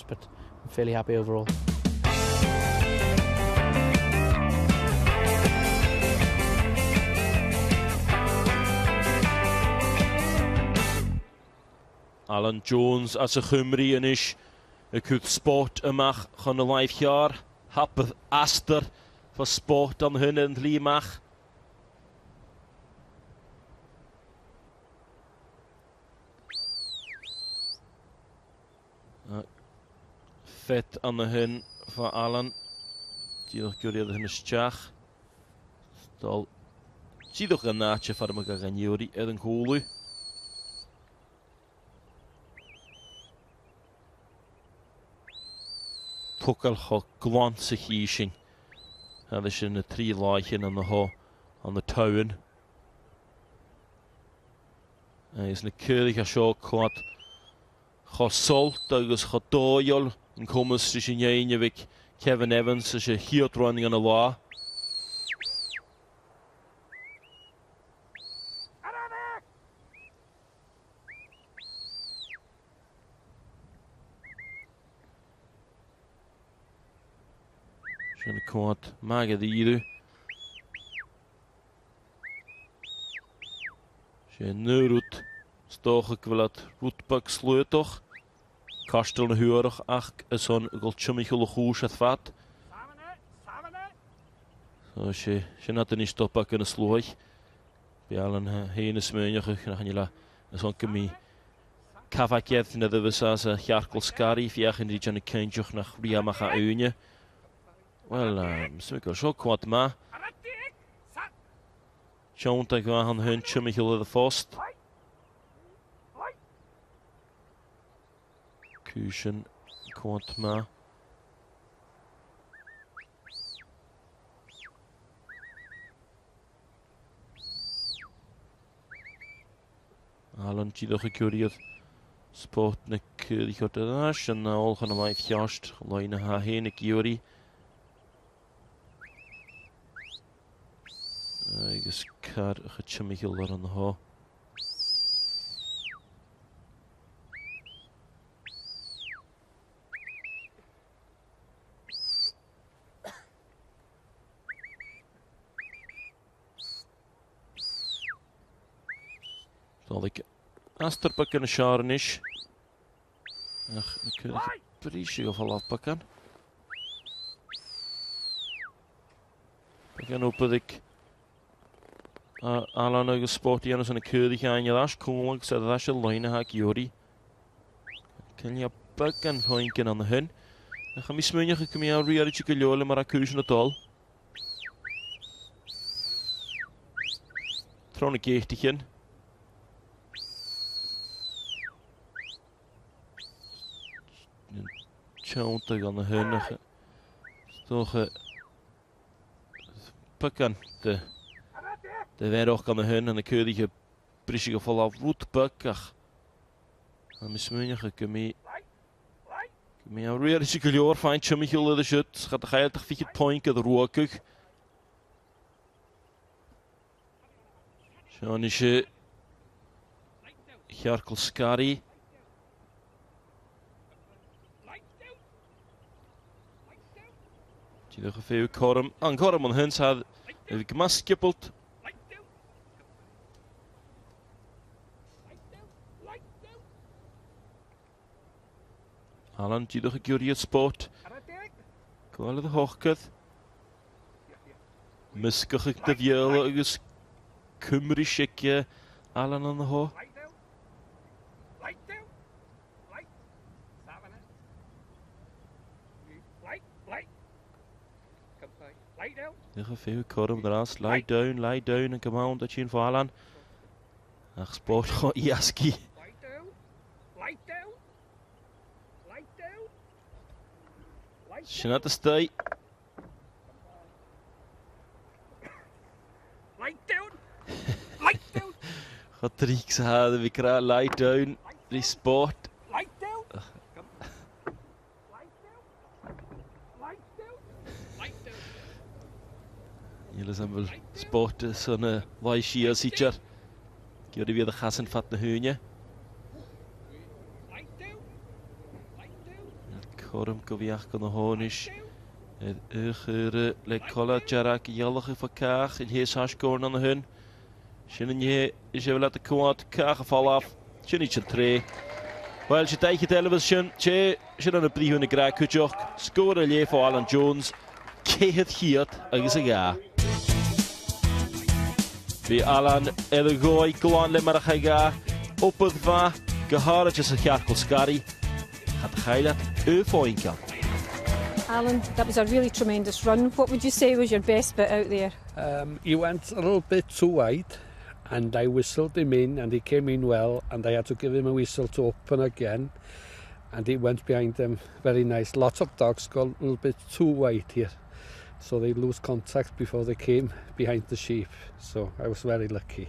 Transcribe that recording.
but I'm fairly happy overall. Alan Jones as y Chymru yn is y cwth sport ymach chon y laif chiar. Hapydd aster fo sport am hyn yn ddlimach. Fet am y hyn fo Alan. Diolch gyriad hyn ysdiach. Dol. Diolch yn na che ffarm ag gan Iwri edd yn cwlw. Tucal cho glan sa chi sin. Hada sin na trí láichin an na ho an na town. Agus na cúrich a seo cwad cho solt agus cho dóiol yn cwmys sy'n sin ein Kevin Evans sy'n hiot running an y lá. Sin cwad magad iru. Sin nŵrwt stoch ag gwlad rwtbag slwytoch. Castel na huarach ach is hon gol tjummichel chús at fat. So sé sin at yn stop ac yn y slwch. Be Alan hein y smynioch nach yn ila is hon gymi cafagiad na ddyfysa sa chiarcol sgari fiach yn rhan y cynjoch nach riamach a wyne. Wel, smygol sio cwad ma. Siawnt ag han hyn tjummichel y ffost. Cwsian cwad ma. Alan diolch y cwriodd sport na cwrdd o'r ddas yn ôl chan y laeth chiast loen na ha hen y giwri. Agus car y chymigol ar yn ho. Dolig Astor bygan y siar yn is. Ach, y cyrraedd brisig o ffolaf bygan. Bygan o byddig Alan agus sport i yn y cyrraedd i ddas cwnglag sydd ddas y loen a hag Iori. Cynlia bygan hoen an hyn. Ach, am i smynioch y cymru ar riar i gylioel yma'r acwys yn y dol. Tron y geit i chyn. Teanta gan na hynach stocha bygan de verach gan na hyn an y cwrdd brisig o ffola rwt bygach a mis mwynach y gymi a rwy'r eisiau gylio'r ffain chymich yw'r siwt chad a chael dach fichet poink ydd rwagwg Sean eisiau Chiarcol Sgari. Diolch y ffyw Corum. An Corum yn hyn sad yw gmasgiblt. Alan, diolch y gyriad sport. Gweld y hochgydd. Mysgwch y dyfiol agus Cymru sicia Alan yn y ho. Diolch y ffyw Corum dras. Lie down, and come on, da chi'n fo Alan. Ach sport o i asgu. Sy'n at y stau. Chod sa ha fi cra, lie down, ri sport. Niels am fel sport sy'n y lai sia sitjar. Gyda fi oedd y chas yn ffat na hwyne. Cothrom go bhfeach go na hóinis ar le cola dearg ghealach fa cach in hé sascór na hun. Sin an hé is é le cuat cach a fallaf sin iad sin tré. Wel, sé daiche eileh sin sé sin an a bríú na gra cuideach, scór a léh Alan Jones, 102. Bhí Alan ar a dhóigh glan le mar a chuige, opad bha go háirithe sa chearcail scairí, Cad chailleat uafáincean. Alan, that was a really tremendous run. What would you say was your best bit out there? He went a little bit too wide and I whistled him in and he came in well and I had to give him a whistle to open again and he went behind them very nice. Lots of dogs got a little bit too wide here, so they lose contact before they came behind the sheep. So I was very lucky.